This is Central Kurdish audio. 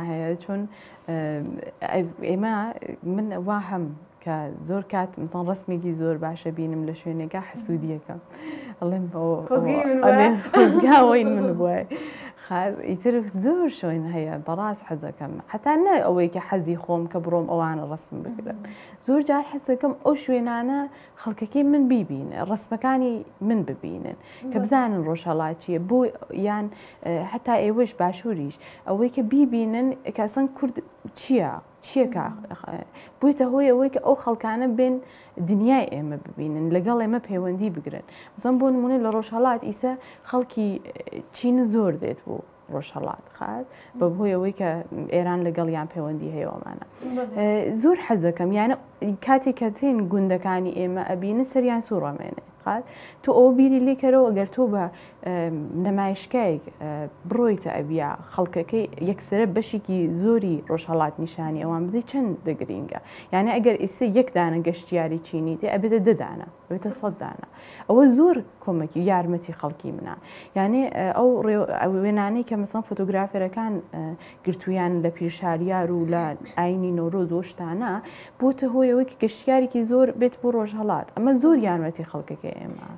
وێنا هەیە چون ئێمە من وا هەم کە زۆر کات مزان ڕسمێکی زۆر باشە بینم لە شوێنێکە حسوودیەکەم ئەڵێم خۆزگاوەی من بووە ئیتر زۆر شوێن هەیە بەڕاست حەزەکەم حتا نە ئەوەی کە حەزی خۆم کە بڕۆم ئەوانە ڕسم بگرم زۆر جار حەزەکەم ئەو شوێنانە خەڵکەکەی من بیبینن ڕسمەکانی من ببینن کە بزانن ڕۆژهەڵات چییە بۆ یان هەتا ئێوەش باشووریش ئەوەی کە بیبینن کە ئەسڵەن کورد چییە چییە کە بوویتە هۆی ئەوەی کە ئەو خەڵکانە بێن دنیای ئێمە ببینن لەگەڵ ئێمە پەیوەندی بگرن بزان بۆ نمونە لە ڕۆژهەڵات ئیسە خەڵکی چین زۆر دێت بوو ڕۆژهەڵات خات بە هۆی ئەوەی کە ئێران لەگەڵیان پەیوەندی هەیە ئەمانە زۆر حەزەکەم یانە کاتێک کە تێن گوندەکانی ئێمە ئەبینن سەریان سوڕەمێنێ خات تۆ ئەوە بیری لێکەرەوە ئەگەر تۆ بە نەمایشکایەک بڕۆیتە ئەبیا خەڵکەکەی یەکسرە بەشێکی زۆری ڕۆژهەڵات نیشانی ئەوان بدەی چەند دەگرینگە یانە ئەگەر ئیسە یەک دانە گەشتیاری چینی تێ ئەبێتە دەدانە ئەبێتە سەد دانە ئەوە زۆر کۆمەکی یارمەتی خەڵکی منە یانێ ئەو وێنانەی کە مەسەن فۆتۆگرافەرەکان گرتویان لە پیرشاریار و لە ئاینی نەورۆز و شتانە بۆتە هۆی ئەوەی کە گەشتیارێکی زۆر بێت بۆ ڕۆژهەڵات ئەمە زۆر یارمەتی خەڵکەکەی ئێمە.